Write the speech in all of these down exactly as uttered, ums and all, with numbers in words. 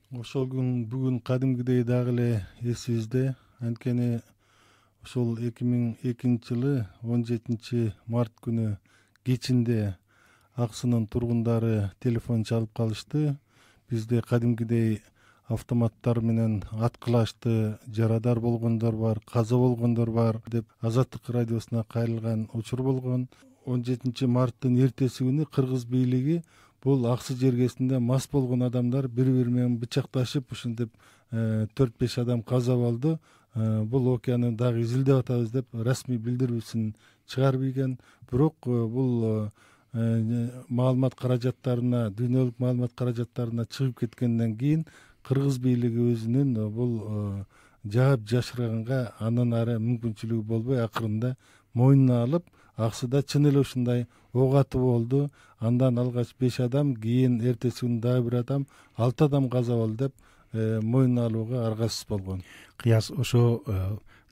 Ошол күн бүгүн кадимгидей дагы эле эсибизде. Анткени ошол эки миң экинчи жылы он жетинчи март күнү кечинде Аксынын тургундары телефон чалып калышты. Бизде кадимгидей автоматтар менен аткылашты, жарадар болгондор бар, каза болгондор бар деп Азаттык радиосуна кайрылган учур болгон. он жетинчи марттын эртеси күнү кыргыз бийлиги бул Аксы жергесинде мас болгон адамдар бири бири менен бычакташып ушинтип төрт беш адам каза болду. Бул окуяны дагы изилдеп атабыз деп расмий билдирүүсүн чыгарып ийген. Бирок бул маалымат каражаттарына, дүйнөлүк маалымат каражаттарына чыгып кеткенден кийин кыргыз бийлиги өзүнүн бул жаап жашырганга андан ары мүмкүнчүлүгү болбой акырында мойнуна алып, Аксыда чын эле ушундай ок атуу болду. Андан алгач беш адам, кийин эртеси күнү дагы бир адам, алты адам каза болду деп мойнуна алууга аргасыз болгон. Кыяс ошо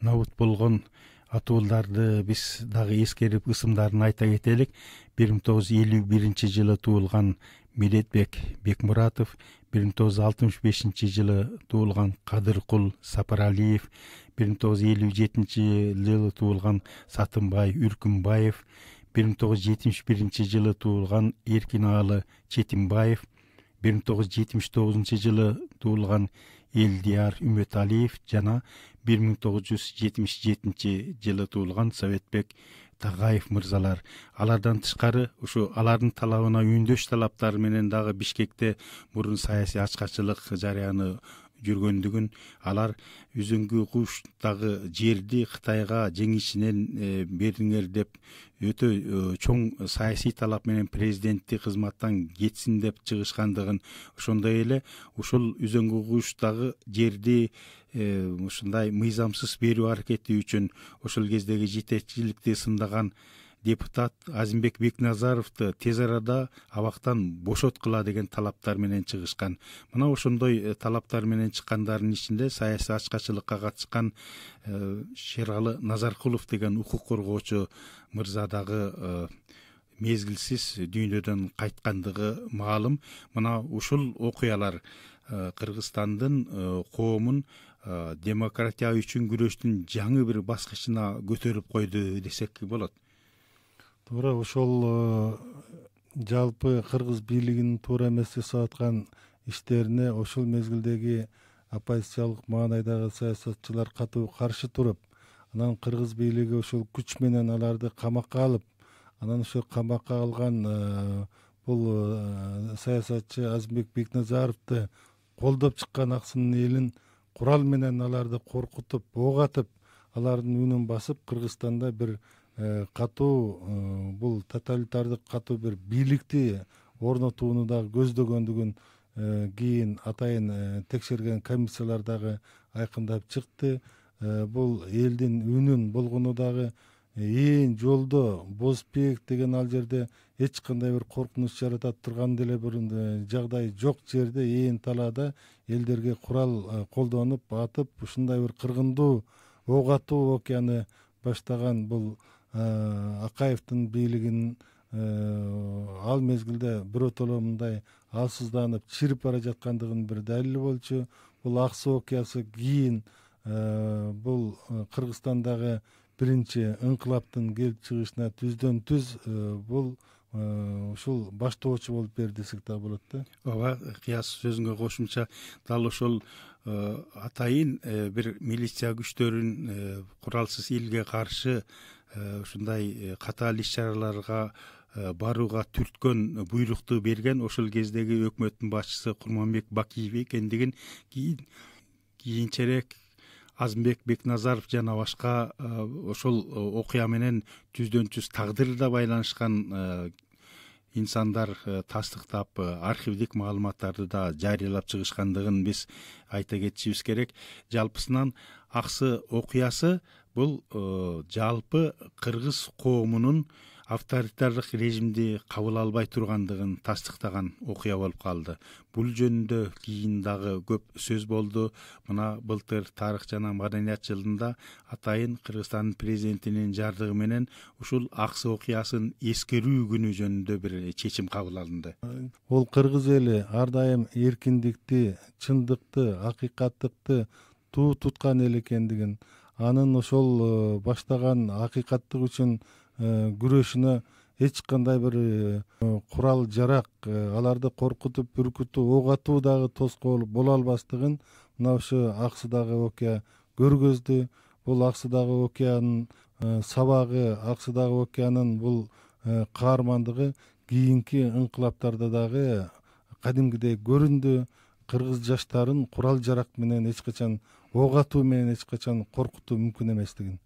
набут болгон атууларды биз дагы эскерип ысымдарын айта кетелик. бир миң тогуз жүз элүү биринчи жылы туулган Медетбек Бекмуратов, бир миң тогуз жүз алтымыш бешинчи жылы туулган Кадыркул Сапаралиев, бир миң тогуз жүз элүү жетинчи жылы туулган Сатымбай Үркүмбаев, бир миң тогуз жүз жетимиш биринчи жылы туулган Эркинаалы Четимбаев, бир миң тогуз жүз жетимиш тогузунчу жылы туулган Элдияр Үмөталиев жана бир миң тогуз жүз жетимиш жетинчи жылы туулган Советбек Тагаев мырзалар. Алардан тышкары ушу алардын талабына үндөш талаптары менен дагы Бишкекте мурун саясий ачкачылык жарыяны жүргөндүгүн, алар Үзүңгү куштагы жерди Кытайга жеңишинен бериңер деп өтө чоң саясий талап менен президенттик кызматтан кетсин деп чыгышкандыгын, ошондой эле ушул Үзүңгү куштагы жерди ушундай мыйзамсыз берүү аракети үчүн ошол кездеги жетекчиликти сындаган депутат Азимбек Бекназаровду тез арада абактан бошоткула деген талаптар менен чыгышкан. Мына ошондой талаптар менен чыккандардын ичинде саясий ачкачылыкка катышкан Шералы Назаркулов деген укук коргоочу мырза дагы мезгилсиз дүйнөдөн кайткандыгы маалым. Мына ушул окуялар Кыргызстандын коомун демократия үчүн күрөштүн жаңы бир баскычына көтөрүп койду десек болот. Туура, ошол жалпы кыргыз бийлигинин туура эмес жасап аткан иштерине ошол мезгилдеги оппозициялык маанайдагы саясатчылар катуу каршы туруп, анан кыргыз бийлиги ошол күч менен аларды камакка алып, анан ошо камакка алган бул саясатчы Азимбек Бекназаровду колдоп чыккан Аксынын элин курал менен аларды коркутуп, ок атып, алардын үнүн басып, Кыргызстанда бир катуу бул тоталитардык катуу бир бийликти орнотууну дагы көздөгөндүгүн кийин атайын текшерген комиссиялар дагы айкындап чыкты. Бул элдин үнүн болгону дагы ээн жолдо Бозбек деген ал жерде эч кандай бир коркунуч жаратат турган деле бир жагдай жок жерде, ээн талаада элдерге курал колдонуп атып, ушундай бир кыргындуу ок атуу окуяны баштаган бул Акаевдин бийлигинин ал мезгилде биротоло мындай алсызданып чирип бара жаткандыгынын бир далили болчу. Бул Аксы окуясы кийин бул Кыргызстандагы биринчи ыңкылаптын келип чыгышына түздөн түз бул ушул баштоочу болуп берди десек да болот да. Ооба, Кыяс сөзүңө кошумча дал ошол атайын бир милиция күчтөрүн куралсыз элге каршы ушундай катаал иш-чараларга барууга түрткөн буйрукту берген ошол кездеги өкмөттүн башчысы Курманбек Бакиев экендигин кийин кийинчерээк Азимбек Бекназаров жана башка ошол окуя менен түздөн түз тагдырда байланышкан инсандар тастыктап архивдик маалыматтарды да жарыялап чыгышкандыгын биз айта кетишибиз керек. Жалпысынан Аксы окуясы бул жалпы кыргыз коомунун авторитардык режимди кабыл албай тургандыгын тастыктаган окуя болуп калды. Бул жөнүндө кийин дагы көп сөз болду. Мына былтыр тарых жана маданият жылында атайын Кыргызстандын президентинин жардыгы менен ушул Аксы окуясын эскерүү күнү жөнүндө бир чечим кабыл алынды. Ол кыргыз эли ар дайым эркиндикти, чындыкты, акыйкаттыкты туу туткан эл экендигин, анын ошол баштаган акыйкаттык үчүн күрөшүнө эч кандай бир курал жарак аларды коркутуп, бүркүтүп, ок атуу дагы тоскоол боло албастыгын мына ушу Аксыдагы окуя көргөздү. Бул Аксыдагы окуянын сабагы, Аксыдагы окуянын бул каармандыгы кийинки ыңкылаптарда дагы кадимгидей көрүндү. Кыргыз жаштарын курал жарак менен эч качан, ок атуу менен эч качан коркутуу мүмкүн эместигин.